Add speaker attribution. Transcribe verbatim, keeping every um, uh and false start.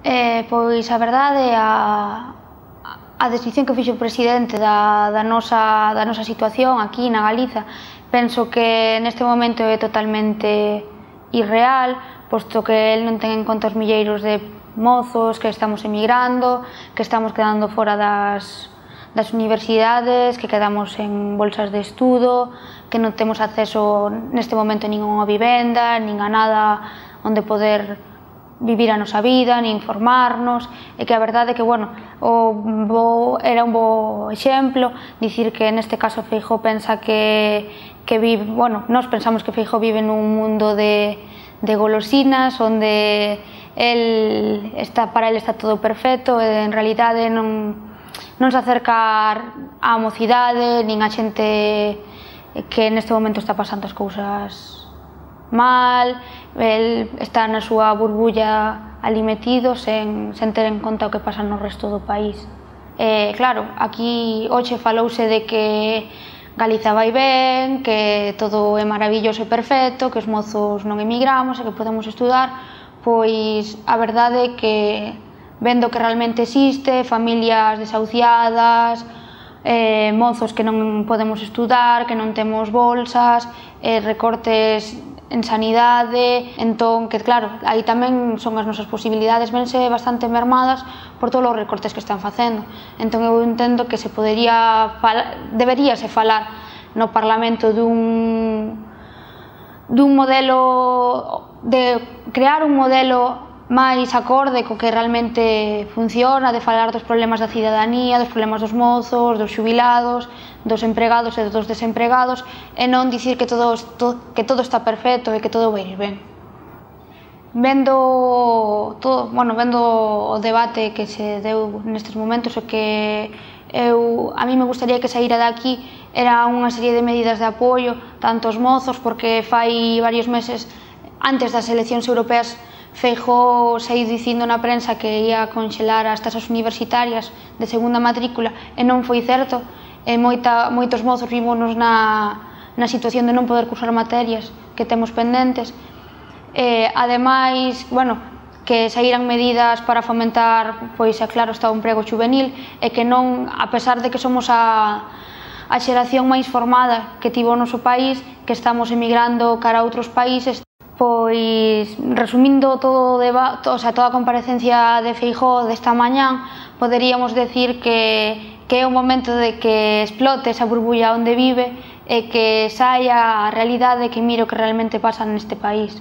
Speaker 1: Eh, pois a verdade, a, a decisión que fixo o presidente da, da, nosa, da nosa situación aquí na Galiza, penso que neste momento é totalmente irreal, posto que el non ten en conta os milleiros de mozos que estamos emigrando, que estamos quedando fora das, das universidades, que quedamos en bolsas de estudo, que non temos acceso neste momento nin a unha vivenda, nin a nada onde poder vivir a nosa vida, nin informarnos, e que a verdade é que, bueno, o bo, era un bo exemplo dicir que neste caso Feijóo pensa que, que vive, bueno, nós pensamos que Feijóo vive nun mundo de, de golosinas, onde el está, para el está todo perfecto, e en realidade non, non se acerca á mocidade, nin a xente que neste momento está pasando as cousas mal, el está na súa burbulla ali metido sen, sen ter en conta o que pasa no resto do país. E, claro, aquí hoxe falouse de que Galiza vai ben, que todo é maravilloso e perfecto, que os mozos non emigramos e que podemos estudar, pois a verdade é que vendo que realmente existe, familias desahuciadas, eh, mozos que non podemos estudar, que non temos bolsas, eh, recortes en sanidade, entón, que claro, aí tamén son as nosas posibilidades, vense bastante mermadas por todos os recortes que están facendo. Entón eu entendo que se podería, deberíase falar no Parlamento dun, dun modelo, de crear un modelo máis acorde co que realmente funciona, de falar dos problemas da cidadanía, dos problemas dos mozos, dos xubilados, dos empregados e dos desempregados, e non dicir que todo, que todo está perfecto e que todo vai ir ben. Vendo, todo, bueno, vendo o debate que se deu nestes momentos, o que eu, a mí me gustaría que saíra daqui era unha serie de medidas de apoio, tanto aos mozos, porque fai varios meses, antes das eleccións europeas, Feijóo saiu dicindo na prensa que ia conxelar as tasas universitarias de segunda matrícula e non foi certo, e moita, moitos mozos vimos na, na situación de non poder cursar materias que temos pendentes. E, ademais, bueno, que saíran medidas para fomentar, pois, é claro, está o emprego xuvenil, e que non, a pesar de que somos a, a xeración máis formada que tivo o noso país, que estamos emigrando cara a outros países, pois, resumindo todo o debate, o sea, toda a comparecencia de Feijóo desta mañán, poderíamos decir que, que é o momento de que explote esa burbulla onde vive e que saia a realidade, que mire o que realmente pasa neste país.